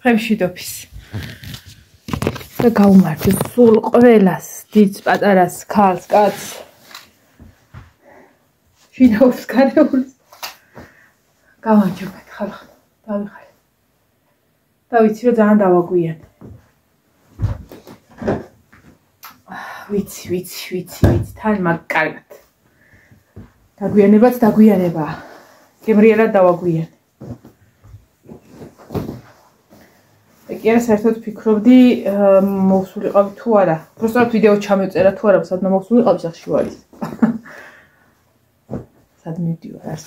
მშვიდობის. და გაუმართლე სულ ყველას, დიდს, პატარას, ქალს, კაცს. მშვიდობის გარეულს. გავანჯობეთ ხალხ, დავიხარე. და ვიცი რომ ძალიან დავაგვიანე. ვიცი, თან მაგ კარგად. დაგვიანებაც დაგვიანებაა. გემრიელად დავაგვიანე. კი არა, საერთოდ ფიქრობდი მოვსულიყავი თუ არა. პროსტად ვიდეო ჩამეწერა თუ არა, სადმა მოვსულიყავი სახში ვარ ის. სად მივდივარ არს.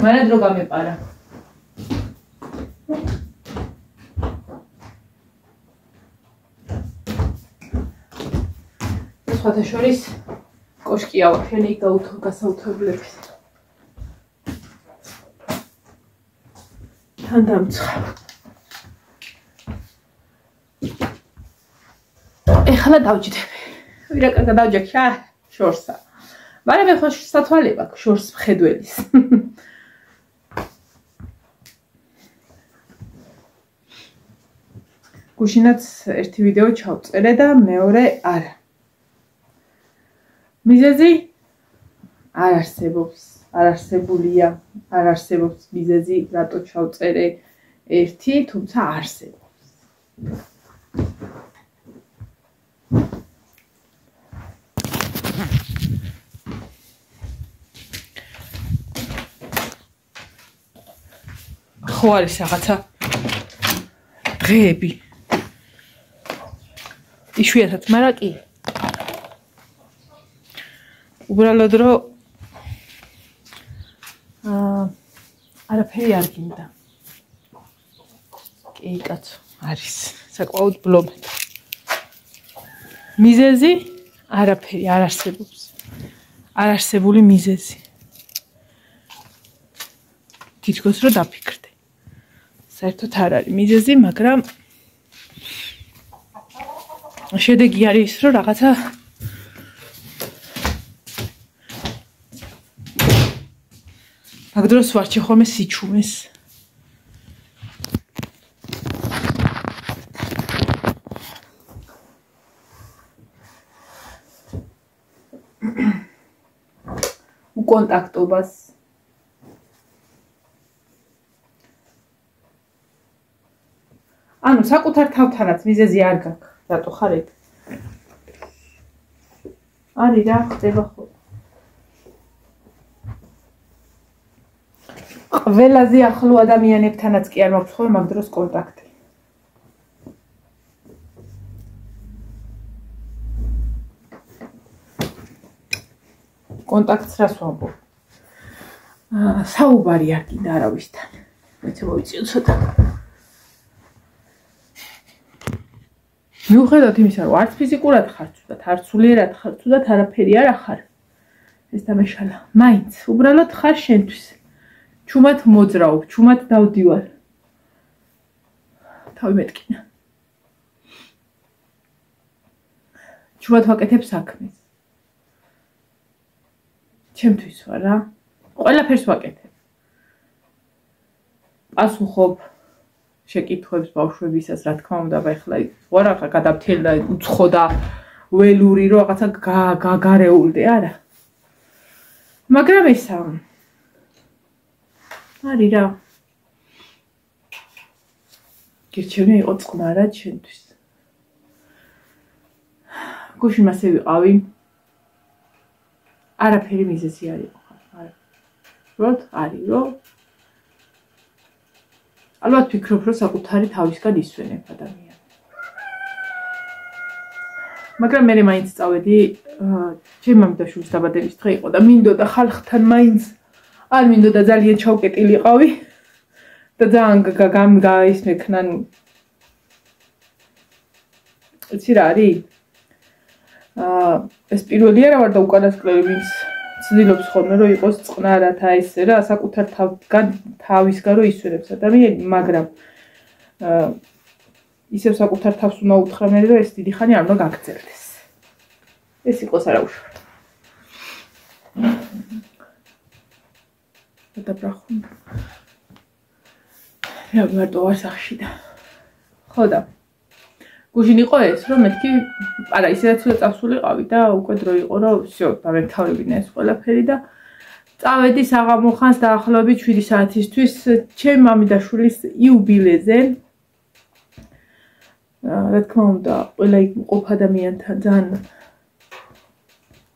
მანად რო გამეპარა. სხვათა შორის კოშკია ვაფშენი გასაუთებლების. თან დამცხა. ეხლა დავჯდები. ვირა კარგად დავჯექი, შორსა. მაგრამ ეხლა სათვალე მაქვს შორს მხედველის. გუშინაც ერთი ვიდეო ჩავწერე და მეორე არა. მიზეზი არ არსებობს, არ არსებულია, არ არსებობს მიზეზი, რატო ჩავწერე ერთი, თუმცა არსებობს. ხო არის რაღაცა დღეები. იშვიათად, მაგრამ კი. უბრალოდ რომ არაფერი არ გინდა. კი, კაცო, არის საკმაოდ ბლომეთ. მიზეზი არაფერი არ არსებობს. არ არსებული მიზეზი. თითქოს რომ დაფიქრდე. საერთოდ არ არის მიზეზი, მაგრამ შედეგი არის ის, რომ რაღაცა მაგ დროს ვარჩი ხოლმე სიჩუმეს. უკონტაქტობას. ანუ საკუთარ თავთანაც მიზეზი არ გაქვს. რატო ხარ ეგ? არის რა ხდება ხო? ყველაზე ახლო ადამიანებთანაც კი არ მაქვს ხოლმე მაგ დროს კონტაქტი. კონტაქტს რას ვამბობ? საუბარი არ გინდა არავისთან. მეც მოვიწიო ცოტა. მიუხედავად იმისა, რომ არც ფიზიკურად ხარ ცუდად, არც სულიერად ხარ ცუდად, არაფერი არ ახარ. ეს დამეშალა. მაინც უბრალოდ ხარ შენთვის. ჩუმად მოძრაობ, ჩუმად დავდივარ. თავი მეტკინა. ჩუმად ვაკეთებ საქმეს. ჩემთვის ვარ რა. ყველაფერს ვაკეთებ. პასუხობ შეკითხვებს ბავშვებისას, რა თქმა უნდა, ახლა ვარ ახლა გადავთელდა უცხო და ველური რო რაღაცა გაგარეულდე, არა. მაგრამ ესა არის რა. გირჩევნია იყო წყნარად შენთვის. გუშინ მასე ვიყავი. არაფერი მიზეზი არ იყო. უბრალოდ არის რომ ალბათ ფიქრობ რომ საკუთარი თავისგან ისვენებ ადამიანს. მაგრამ მე მაინც წავედი, ჩემი მამიდაშვილის დაბადების დღე იყო და მინდოდა ხალხთან მაინც არ მინდოდა ძალიან ჩავკეტილიყავი და ძალიან გაისმექნან. იცი რა არის? ეს პირველი არა ვარ და უკანასკნელი ვინც ცდილობს ხოლმე რომ იყოს წყნარად ესე რა, საკუთარ თავისგან რომ ისვენებს ადამიანი, მაგრამ ისევ საკუთარ თავს უნდა უთხრა მე რომ ეს დიდი ხანი არ უნდა გაგრძელდეს. ეს იყოს არაუშავი. დაბრახუნდა. რა მარტო არ სახში და. ხო და გუშინ იყო ეს, რომ მეთქი, არა, ისედაც წავსულიყავი და უკვე დრო იყო, რომ всё, დავეთავებინა ეს ყველაფერი და წავედი საღამო ხანს დაახლოებით 7 საათისთვის ჩემი მამიდაშვილის იუბილეზე. რა თქმა უნდა, ყველა იქ მყოფ ადამიანთან ძალიან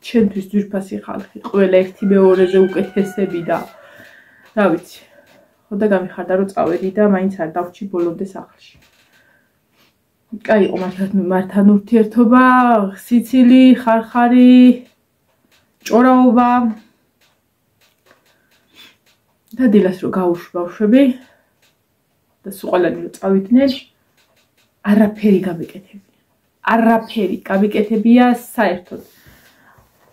ჩემთვის ძვირფასი ხალხი, ყველა ერთი მეორეზე უკეთესები და რა ვიცი. ხო და გამიხარდა რომ წავედი და მაინც არ დავრჩი ბოლომდე სახლში. კაი იყო მართან ურთიერთობა, სიცილი, ხარხარი, ჭორაობა. და დილას რო გავუშვი ბავშვები და სულ ყველანი რო წავიდნენ, არაფერი გამიკეთებია. არაფერი გამიკეთებია საერთოდ.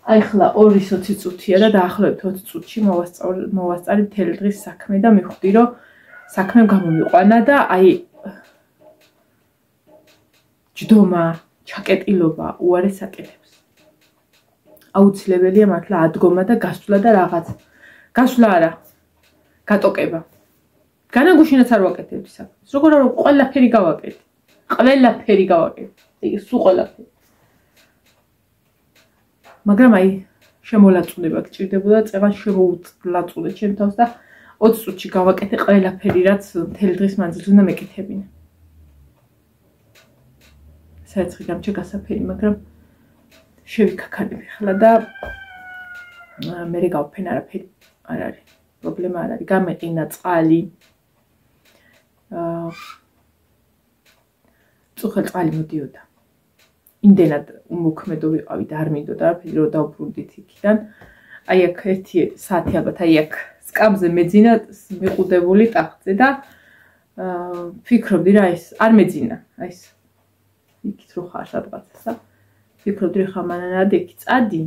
აი ხლა 2:20 წუთია და დაახლოებით 20 წუთში მოვასწარი მთელი დღის საქმე და მივხვდი რომ საქმემ გამომიყვანა და აი ჯდომა, ჩაკეტილობა უარეს აკეთებს. აუცილებელია მართლა ადგომა და გასვლა და რაღაც. გასვლა არა, გატოკება. განაგუშინაც არ ვაკეთებდი საქმეს. როგორ არა ყველაფერი გავაკეთე. ყველაფერი გავაკეთე. სულ ყველაფერი. მაგრამ აი შემოლაწუნება გჭირდებოდა, წეღან შემოულაწუნე ჩემ თავს და 20 წუთში გავაკეთე ყველაფერი, რაც მთელი დღის მანძილზე უნდა მეკეთებინა. საერთოდ გამჩა გასაფერი, მაგრამ შევიქაქანები ხლა და მე გავფენ არაფერი არ არის. პრობლემა არ არის. გამეყინა წყალი. წუხელ წყალი მოდიოდა. იმდენად უმოქმედო ვიყავი და არ მინდოდა არაფერი რომ დავბრუნდით იქიდან. აი აქ 1 საათი ალბათ აი აქ სკამზე მეძინა მიყუდებული ტახტზე და ფიქრობდი რა ეს არ მეძინა. აი ეს იქით რო ხარ სადღაცსა. ფიქრობდი ხა მანანად იქ წადი.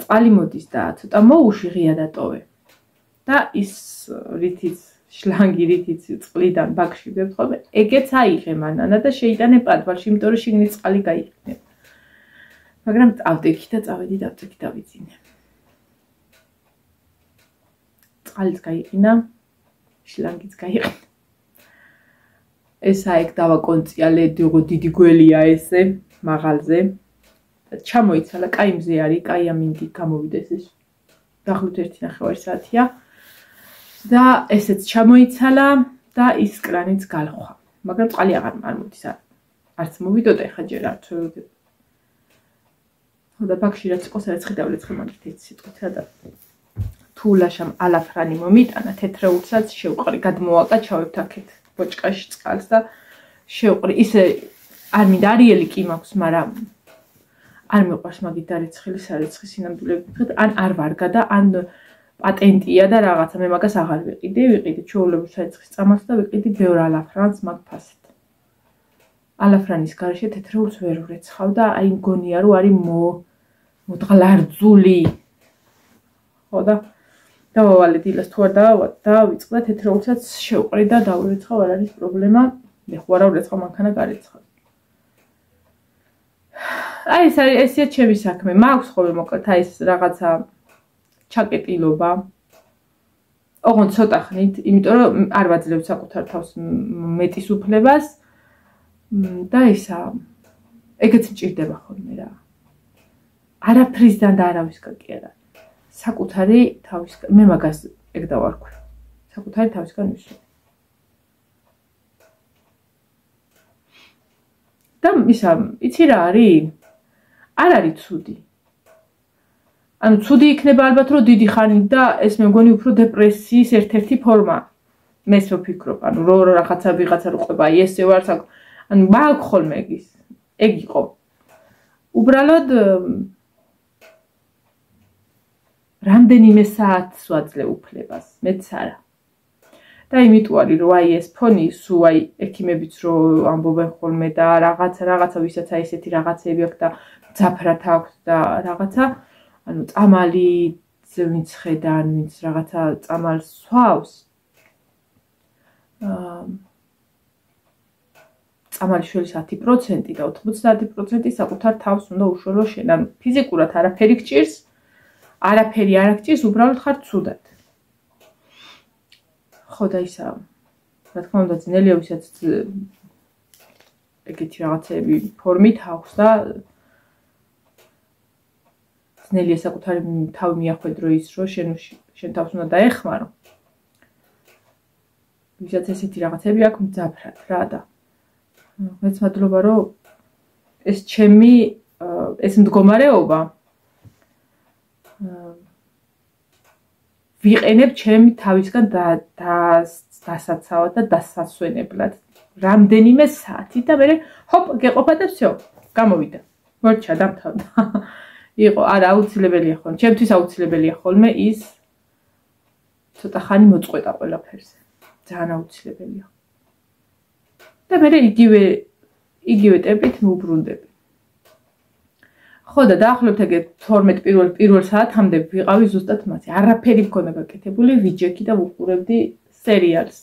წყალი მოდის და ცოტა მოუში ღია დატოვე. და ის რითიც შლანგი რითიც წყლიდან ბაკში ვებთხოვე, ეგეც აიღე მანანა და შეიტანე პადვალში, იმიტომ რომ შიგნით წყალი გაიყინება. მაგრამ წავდექი და წავედი და ავდექი დავიძინე. წყალიც გაიყინა, შლანგიც გაიყინა. ეს აიქ დავაკონციალე, დიდი გველია ესე, მაღალზე. ჩამოიცალა, კაი მზე არის, კაი ამინდი გამოვიდეს ეს. დაახლოებით 1.5 საათია. და ესეც ჩამოიცალა და ის კრანიც გალხვა. მაგრამ წყალი აღარ მოდის. არც მოვიდოდა ეხა ჯერ არც ვეუდება. ხო და ბაქში რაც იყო, სადაც ხედავლეცხე მაგით ეს სიტყვით და თუ ლაშამ ალაფრანი მომიტანა, თეთრეულსაც შევყრი, გადმოვაკაჩავებთ აქეთ ბოჭკაში წყალს და შევყრი. ისე არ მინდა არიელი კი მაქვს, მაგრამ არ მიყვარს მაგით დარეცხილი სარეცხი სინამდვილეებით. ან არ ვარგა და ან პატენტია და რაღაცა მე მაგას აღარ ვიყიდე ჩვეულებრივ სარეცხის წამალს და ვიყიდე ბევრ ალაფრანს მაგ ფასად. ალაფრანის გარშე თეთრეულს ვერ ვრეცხავ და აი მგონია რომ არის მოდღლარძული. ხო და დავავალე დილას თუ არ დავავალ და ვიწყდა თეთრეულსაც შევყრი და დავრეცხავ, არ არის პრობლემა. მე ხო არ ვრეცხავ, მანქანა გარეცხავ. აი ესეა ჩემი საქმე. მაქვს ხოლმე მოკლედ აი ეს რაღაცა ჩაკეტილობა. ოღონდ ცოტა ხნით, იმიტომ რომ არ ვაძლევ საკუთარ თავს მეტის უფლებას და ისა ეგეც მჭირდება ხოლმე რა. არაფრისგან და არავისგან კი არა. საკუთარი თავისგან, მე მაგას ეგ დავარქვი. საკუთარი თავისგან ვისვი. და ისა, იცი რა არის? არ არის ცუდი. ანუ ცუდი იქნება ალბათ რომ დიდი ხანი და ეს მე მგონი უფრო დეპრესიის ერთ-ერთი ფორმა. მეს ვფიქრობ, ანუ რო რაღაცა ვიღაცა რო ყვება, აი ესე ვარ, ანუ მაგ ხოლმე ეგ იყო. უბრალოდ რამდენიმე საათს ვაძლევ უფლებას, მეც არა. და იმიტომ არის რომ აი ეს ფონი სულ აი ექიმებიც რო ამბობენ ხოლმე და რაღაცა ვისაც აი ესეთი რაღაცები აქვს და ძაფრად აქვს და რაღაცა ანუ წამალი ვინც ხედან, ვინც რაღაცა წამალს სვავს. წამალი შველის 10% და 90% საკუთარ თავს უნდა უშველო შენ. ანუ ფიზიკურად არაფერი გჭირს, არაფერი არ გჭირს, უბრალოდ ხარ ცუდად. ხო და ისა რა თქმა უნდა ძნელია ვისაც ეგეთი რაღაცები ფორმით აქვს და ძნელია საკუთარი თავი მიახვედრო ის რომ შენ თავს უნდა დაეხმარო ვისაც ესეთი რაღაცები აქვს მძაფრად რა და მეც მადლობა რომ ეს ჩემი ეს მდგომარეობა ვიყენებ ჩემი თავისგან დასაცავად და დასასვენებლად რამდენიმე საათი და მე ჰოპ გეყოფა და всё გამოვიდა მორჩა დამთავრდა იყო არა აუცილებელია ხოლმე ჩემთვის აუცილებელია ხოლმე ის ცოტა ხანი მოწყვეტა ყველაფერზე ძალიან აუცილებელია და მე იგივე ტემპით მოვბრუნდები ხო და დაახლოებით ეგ 12 პირველ საათამდე ვიყავი ზუსტად მათი არაფერი მქონდა გაკეთებული ვიჯექი და ვუყურებდი სერიალს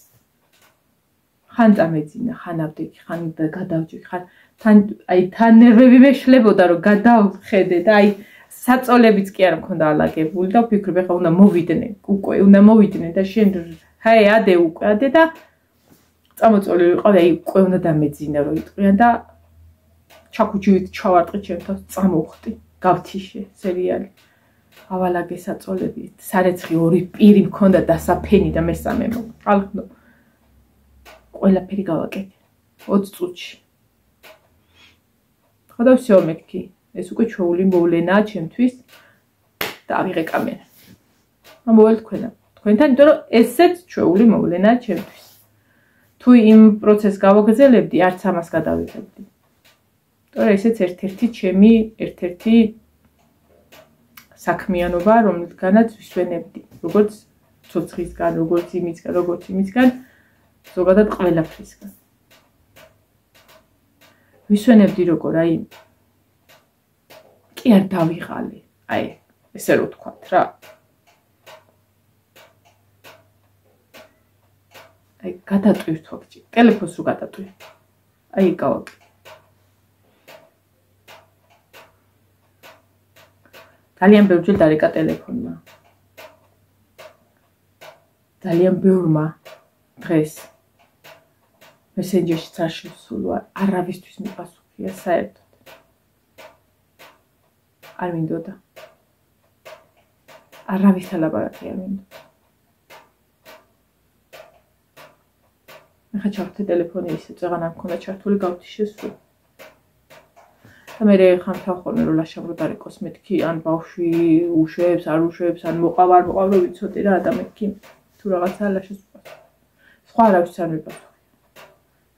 ხან წამეძინა ხან ავდექი ხან გადავჯექი ხან თან ნერვები მეშლებოდა რომ გადავხედე და საწოლებიც კი არ მქონდა ალაგებული და ვფიქრობ ეხლა უნდა მოვიდნენ და შენ ადე და წამოწოლილი ვიყავი უკვე უნდა დამეძინა რომ იტყვიან და ჩაქუჩივით ჩავარტყი ჩემ თავს წამოვხდი გავთიშე სერიალი ავალაგე საწოლები სარეცხი ორი პირი მქონდა დასაფენი და მესამე ალხნო ყველაფერი გავაკეთე 20 წუთში ხო და всё მეკი ეს უკვე ჩვეული მოვლენაა ჩემთვის და ავიღე კამერა ამოვალ თქვენთან იმიტომ რომ ესეც ჩვეული მოვლენაა ჩემთვის თუ იმ პროცესს გავაგრძელებდი არც ამას გადავიღებდი და ესეც ერთ-ერთი საქმიანობა რომელთგანაც ვისვენებდი როგორც ცოცხლისგან როგორც იმისგან ზოგადად ყველაფრისგან ვისვენებდი როგორ კი არ დავიღალე ესე რო ვთქვათ რა გადატვირთ ვაფჭი ტელეფონს რო გადატვირთ გავაკეთე ძალიან ბევრჯერ დარეკა ტელეფონმა ძალიან ბევრმა დღეს მესენჯერში არ შევსულვარ არავისთვის მიპასუხია საერთოდ არ მინდოდა არავისთან ლაპარაკი არ მინდოდა მე ხაჩავთე ტელეფონი ისე წეღან არ მქონდა ჩართული გავთიშე სულ და მე ხამთავ ხოლმე რომ ლაშამრო დარეკოს მეთქი ან ბავშვი უშვებს არ უშვებს ან მოყავ რომ ვიცოდი რა და მეთქი თუ რაღაცა ლაშას უყავს სხვა არავის არ მიპასუხე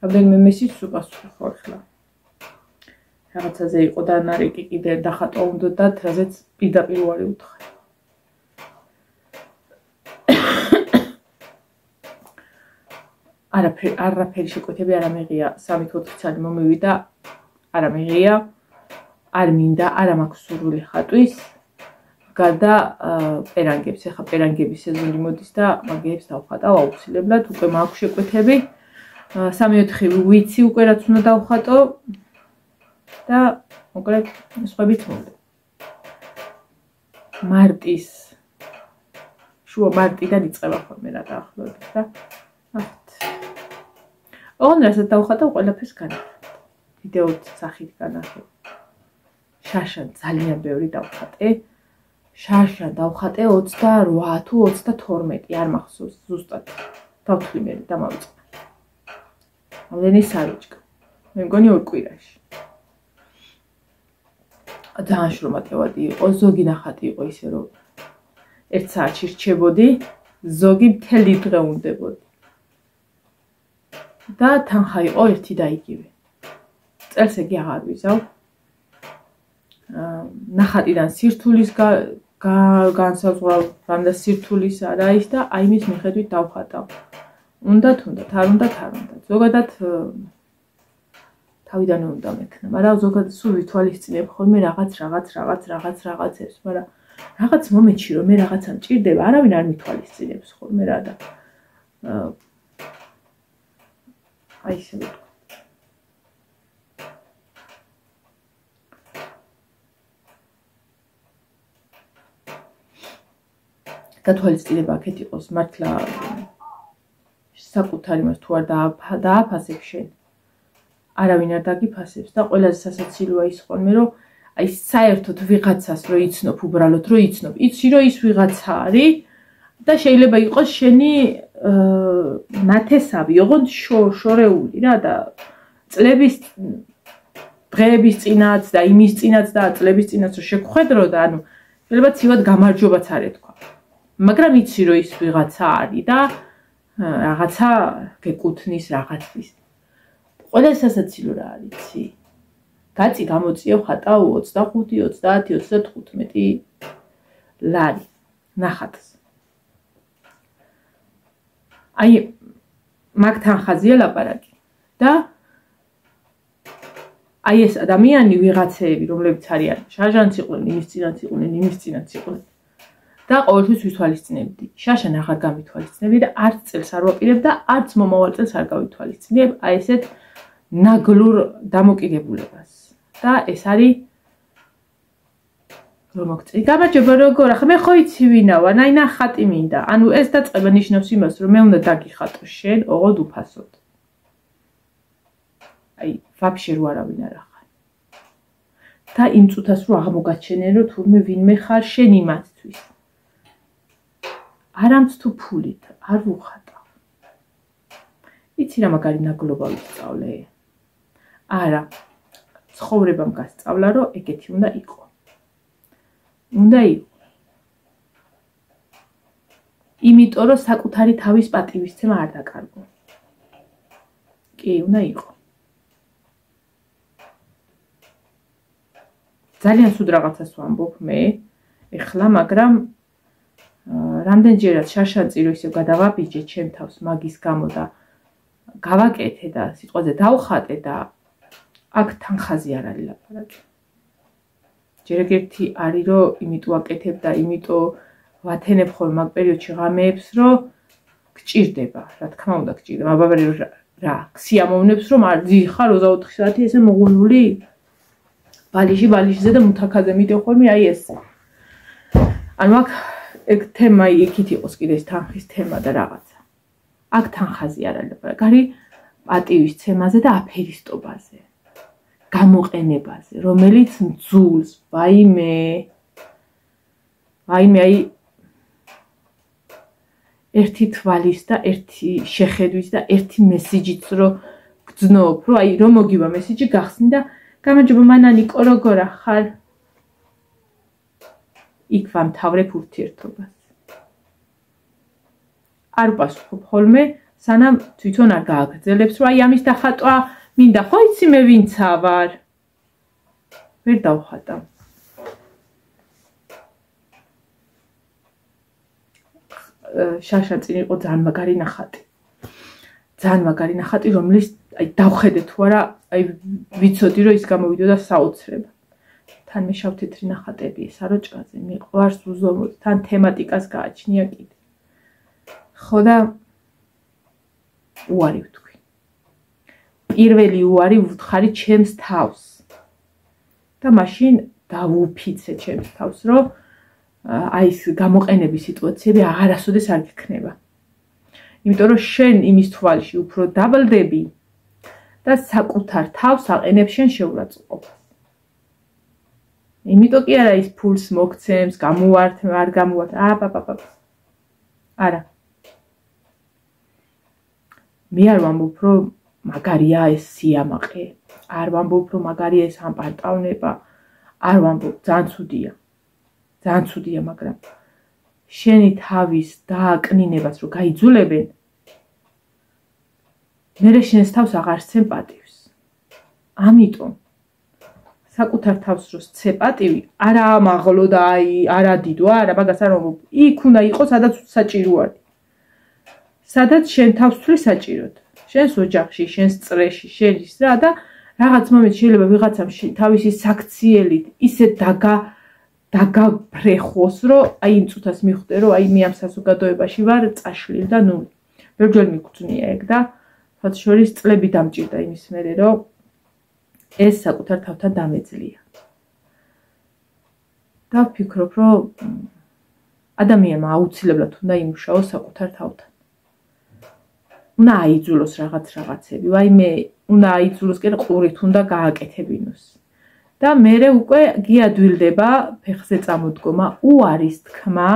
რამდენიმე მესიჯს უპასუხე ხო ახლა რაღაცაზე იყო და ნარიკი კიდე დახატვა უნდათ რაზეც პირდაპირ უარი უთხრა არაფერი შეკვეთები არ ამეღია 3-4 წელი მომივიდა არ ამეღია არ მინდა არ მაქვს სურვილი ხატვის გარდა პერანგებს ეხა პერანგების სეზონი მოდის და მაგებს დავხატავ აუცილებლად უკვე მაქვს შეკვეთები 3-4 ვიცი უკვე რაც უნდა დავხატო და მოკლედ სხვაებიც მომდა მარტიდან იწყება ხოლმე რა დაახლოებით და ოღონდ რასაც დავხატავ ყველაფერს განახატე ვიდეოც სახით განახატე შარშან ძალიან ბევრი დავხატე შარშან დავხატე 28 თუ 32 არ მახსოვს ზუსტად დავთვლი მე და მოვიწყე ამდენი საროჭკა მე მგონი 2 კვირაში ძალიან შრომატევადი იყო ზოგი ნახატი იყო ისე რომ 1 საათში რჩებოდი ზოგი მთელი დღე უნდებოდი და თანხა იყო ერთი და იგივე წელს ეგი აღარ ვიზავ ნახატიდან სირთულის განსაზღვრავ რამდა სირთულის არა ის და იმის მიხედვით დავხატავ უნდათ არ უნდათ ზოგადად თავიდანვე უნდა მექნა მაგრამ ზოგადად სულ ვითვალისწინებ ხოლმე რაღაცებს მაგრამ რაღაც მომენტში რომ მე რაღაცა მჭირდება არავინ არ მითვალისწინებს ხოლმე რა და ისე გათვალისწინება აქეთ იყოს მართლა საკუთარი მას თუ არ დააფასებ შენ არავინ არ დაგიფასებს და ყველაზე სასაცილოა ის ხოლმე რომ აი საერთოდ ვიღაცას რო იცნობ უბრალოდ რო იცნობ იცი რომ ის ვიღაცა არის და შეიძლება იყოს შენი ნათესავი ოღონდ შორეული რა და წლების დღეების წინაც და იმის წინაც და წლების წინაც რო შეგხვედრო და ანუ შეიძლება ცივად გამარჯობაც არ ეთქვა მაგრამ იცი რომ ის ვიღაცა არის და რაღაცა გეკუთვნის რაღაცის ყველა სასაცილო რა არის იცი გაწი გამოწიო ხატავ 25 30 35 ლარი ნახატს აი მაგთან ხაზია ლაპარაკი და აი ეს ადამიანი ვიღაცეები რომლებიც არიან შარჟანც იყვნენ იმის წინაც იყვნენ იმის წინაც იყვნენ და ყოველთვის ვითვალისწინებდი შაშან აღარ გამითვალისწინებდი და არც წელს არ ვაპირებ და არც მომავალ წელს არ გავითვალისწინებ აი ესეთ ნაგლურ დამოკიდებულებას და ეს არის რომ მოგწი გამარჯობა როგორ ახლა მე ხო იცი ვინა ვარ აი ნახატი მინდა ანუ ეს დაწყება ნიშნავს იმას რომ მე უნდა დაგიხატო შენ ოღონდ უფასოდ აი ვაფშე რო არავინ არ ახარ და იმ წუთას რო აღმოგაჩენენ რომ თურმე ვინმე ხარ შენ იმათთვის არამც თუ ფულით არ ვუხატავ იცი რა მაგარი ნაგლობა ვისწავლე არა ცხოვრებამ გასწავლა რომ ეგეთი უნდა იყო იმიტომ რომ საკუთარი თავის პატივისცემა არ დაკარგო კი უნდა იყო ძალიან სულ რაღაცას ვამბობ მე ეხლა მაგრამ რამდენჯერაც შარშანწი რო ისევ გადავაბიჯე ჩემ თავს მაგის გამო და გავაკეთე და სიტყვაზე დავხატე და აქ თანხაზე არ არის ლაპარაკი ჯერ ერთი არის რომ იმიტომ აკეთებ და იმიტომ ვათენებ ხოლმე მაგ პერიოდში ღამეებს რომ გჭირდება რა თქმა უნდა გჭირდება აბაბარი რა სიამოვნებს რომ არ ძიხარ 24 საათი ესე მოღუნული ბალიში და მუთაქაზე მიდევ ხოლმე აი ეს ანუ აქ ეგ თემა იქით იყოს კიდე ეს თანხის თემა და რაღაცა აქ თანხაზე არ არის ლაპარაკი არის პატივისცემაზე და აფერისტობაზე გამოყენებაზე რომელიც მძულს ვაიმე აი ერთი თვალის და ერთი შეხედვის და ერთი მესიჯით რომ გძნობ რომ აი რომ მოგივა მესიჯი გახსნი და გამარჯობა მანანიკო როგორ ახარ იქ ვამთავრებ ურთიერთობას არ ვპასუხობ ხოლმე სანამ თვითონ არ გააგრძელებს რომ აი ამის დახატვა მინდა ხო იცი მე ვინცა ვარ ვერ დავხატავ შაშაწინ იყო ძალიან მაგარი ნახატი რომლის აი დავხედე თუ არა აი ვიცოდი რომ ის გამოვიდოდა საოცრება თან მე შავთეთრი ნახატები საროჭკაზე მიყვარს უზომოდ თან თემატიკას გააჩნია კიდე ხო და უარი ვთქვი პირველი უარი ვუთხარი ჩემს თავს და მაშინ დავუფიცე ჩემს თავს რომ აი ეს გამოყენების სიტუაციები აღარასოდეს არ გექნება იმიტომ რომ შენ იმის თვალში უფრო დაბლდები და საკუთარ თავს აყენებ შენ შეურაცხყოფას იმიტომ კი არა ის ფულს მოგცემს გამოვართ არ გამოვართ არა მე არ ვამბობ რომ მაგარია ეს სიამაყე არ ვამბობ რომ მაგარია ეს ამპარტავნება არ ვამბობ ძალიან ცუდია მაგრამ შენი თავის დააკნინებას რო გაიძულებენ მე შენს თავს აღარ სცემ პატივს ამიტომ საკუთარ თავს რო სცე პატივი არა ამაღლო და აი არა დიდო არა მაგას არ ვამბობ იქ უნდა იყოს სადაც საჭირო არის სადაც შენ თავს თვლი საჭიროდ შენს ოჯახში შენს წრეში შელის რა და რაღაც მომენტ შეიძლება ვიღაცამ თავისი საქციელით ისე დაგაფრეხოს რომ აი იმ წუთას მიხვდე რომ აი მე ამ საზოგადოებაში ვარ წაშლილ და ნუ ბევრჯერ მიგწვნია ეგ და მათ შორის წლები დამჭირდა იმის მერე რომ ეს საკუთარ თავთან დამეძლია და ვფიქრობ რომ ადამიანმა აუცილებლად უნდა იმუშაოს საკუთარ თავთან უნდა აიძულოს რაღაცები, ვაიმე უნდა აიძულოს კი ყურით უნდა გააკეთებინოს. და მერე უკვე გიადვილდება ფეხზე წამოდგომა, უარის თქმა,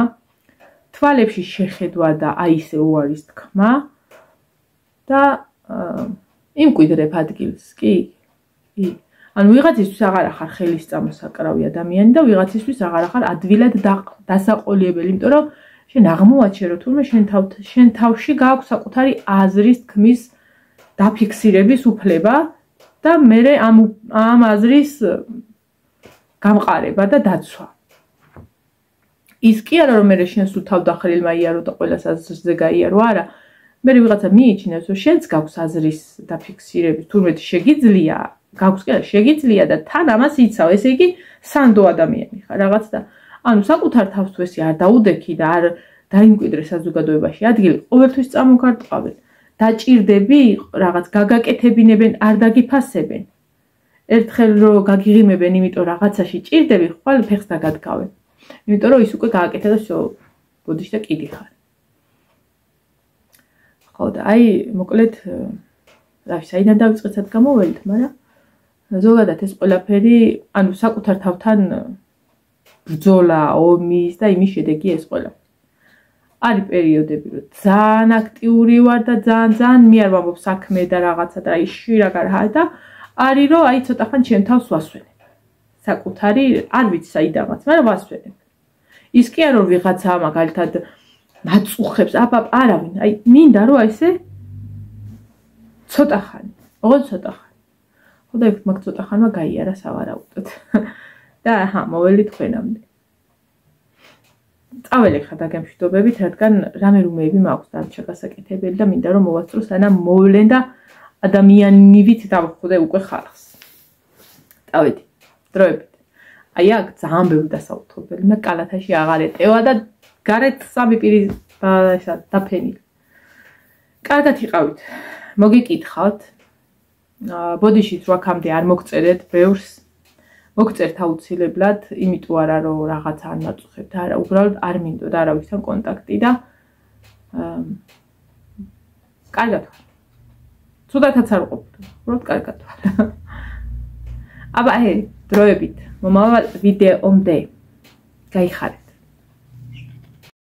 თვალებში შეხედვა და აი ესე უარის თქმა და იმკვიდრებ ადგილს, კი. ანუ ვიღაცისთვის აღარ ახარ ხელის წამოსაკრავი ადამიანი და ვიღაცისთვის აღარ ახარ ადვილად დასაყოლიებელი, იმიტომ რომ შენ აღმოაჩენ რომ თურმე შენ თავში გააქვს საკუთარი აზრის თქმის დაფიქსირების უფლება და მერე ამ აზრის გამყარება და დაცვა. ის კი არა რომ მერე შენ სულ თავდახრილმა იარო და ყველას აზრზე გაიარო, არა. მერე ვიღაცა მიიჩნევს რომ შენც გაქვს აზრის დაფიქსირების, თურმე შეგიძლია, გაქვს კი არა, შეგიძლია და თან ამას იცავ, ესე იგი სანდო ადამიანი ხარ რაღაც და ანუ საკუთარ თავს თუ ესე არ დაუდექი და არ დაიმკვიდრე საზოგადოებაში ადგილი, ყოველთვის წამოგარტყავენ. დაჭირდები რაღაც გაგაკეთებინებენ, არ დაგიფასებენ. ერთხელ რო გაგიღიმებენ, იმიტომ რაღაცაში ჭირდები, ხვალ ფეხს დაგადგავენ. იმიტომ რომ ის უკვე გააკეთა და всё, ბოდიში და კიდი ხარ. ხო და აი, მოკლედ, რავი, საიდან დავიწყეთ გამოველთ, მაგრამ ზოგადად ეს ყველაფერი, ანუ საკუთარ თავთან ბრძოლა, ომის და იმის შედეგი ეს ყველაფერი. არის პერიოდები, რომ ძალიან აქტიური ვარ და ძალიან მე არ ვამბობ საქმე და რაღაცა და აი შირაგარჰა და არის რომ აი ცოტა ხან ჩემ თავს ვასვენებ. საკუთარი არ ვიცი საიდანაც, მაგრამ ვასვენებ. ის კი არა რომ ვიღაცა მაგალითად მაწუხებს, არავინ, აი მინდა რომ აი ესე ცოტა ხანი, ოღონდ ცოტა ხანი. ხო და მაგ ცოტა ხანმა გაიარა სავარაუდოდ. და აჰა, მოველით თქვენამდე. წაველი ხა დაგემშვიდობებით, რადგან რამე რუმეები მაქვს დარჩა გასაკეთებელი და მინდა რომ მოვასწრო სანამ მოვლენ და ადამიანივით დავხვდე უკვე ხალხს. წავედი, დროებით. აი აქ ძალიან ბევრი დასაუთრებელი, მე კალათაში აღარ ეტევა და გარეთ სამი პირი ესა დაფენილი. კარგად იყავით. მოგიკითხავთ. ბოდიშით რო აქამდე არ მოგწერეთ ბევრს. მოგწერთ აუცილებლად, იმიტომ არა რომ რაღაცა არ მაწუხებთ, არა, უბრალოდ არ მინდოდა არავისთან კონტაქტი და კარგად ვარ. ცუდათაც არ ყოფილი, უბრალოდ კარგად ვარ. აბა, დროებით, მომავალ ვიდეომდე. გაიხარეთ.